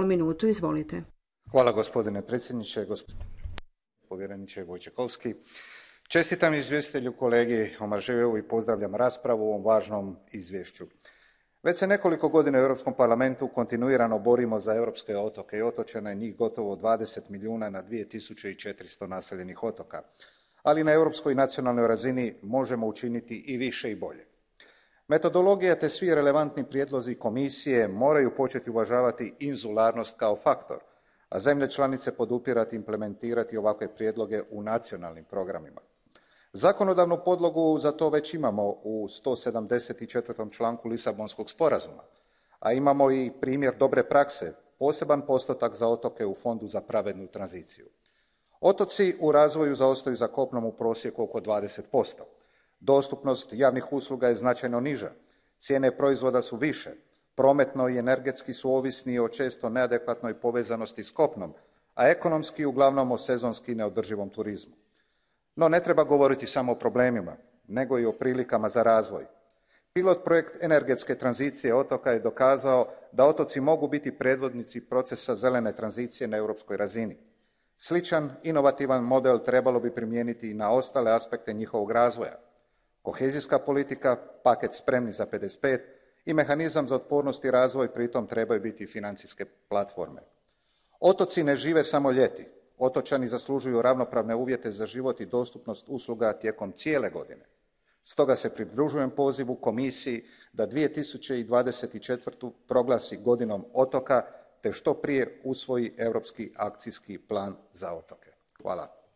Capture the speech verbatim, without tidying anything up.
minutu, izvolite. Hvala gospodine predsjedniče, gospodine povjereniče Wojciechowski. Čestitam izvjestitelju kolegi Omarjeeu i pozdravljam raspravu o ovom važnom izvješću. Već se nekoliko godina u Europskom parlamentu kontinuirano borimo za europske otoke i otočane, njih gotovo dvadeset milijuna na dvije tisuće četiristo naseljenih otoka. Ali na europskoj i nacionalnoj razini možemo učiniti i više i bolje. Metodologija te svi relevantni prijedlozi komisije moraju početi uvažavati inzularnost kao faktor, a zemlje članice podupirati i implementirati ovakve prijedloge u nacionalnim programima. Zakonodavnu podlogu za to već imamo u sto sedamdeset četvrtom članku Lisabonskog sporazuma, a imamo i primjer dobre prakse, poseban postotak za otoke u Fondu za pravednu tranziciju. Otoci u razvoju zaostaju za kopnom u prosjeku oko dvadeset posto. Dostupnost javnih usluga je značajno niža, cijene proizvoda su više, prometno i energetski su ovisni o često neadekvatnoj povezanosti s kopnom, a ekonomski uglavnom o sezonski neodrživom turizmu. No ne treba govoriti samo o problemima, nego i o prilikama za razvoj. Pilot projekt energetske tranzicije otoka je dokazao da otoci mogu biti predvodnici procesa zelene tranzicije na europskoj razini. Sličan, inovativan model trebalo bi primijeniti i na ostale aspekte njihovog razvoja. Kohezijska politika, paket Spremni za pedeset pet i mehanizam za otpornost i razvoj pritom trebaju biti financijske platforme. Otoci ne žive samo ljeti. Otočani zaslužuju ravnopravne uvjete za život i dostupnost usluga tijekom cijele godine. Stoga se pridružujem pozivu komisiji da dvije tisuće dvadeset četvrtu proglasi godinom otoka te što prije usvoji europski akcijski plan za otoke. Hvala.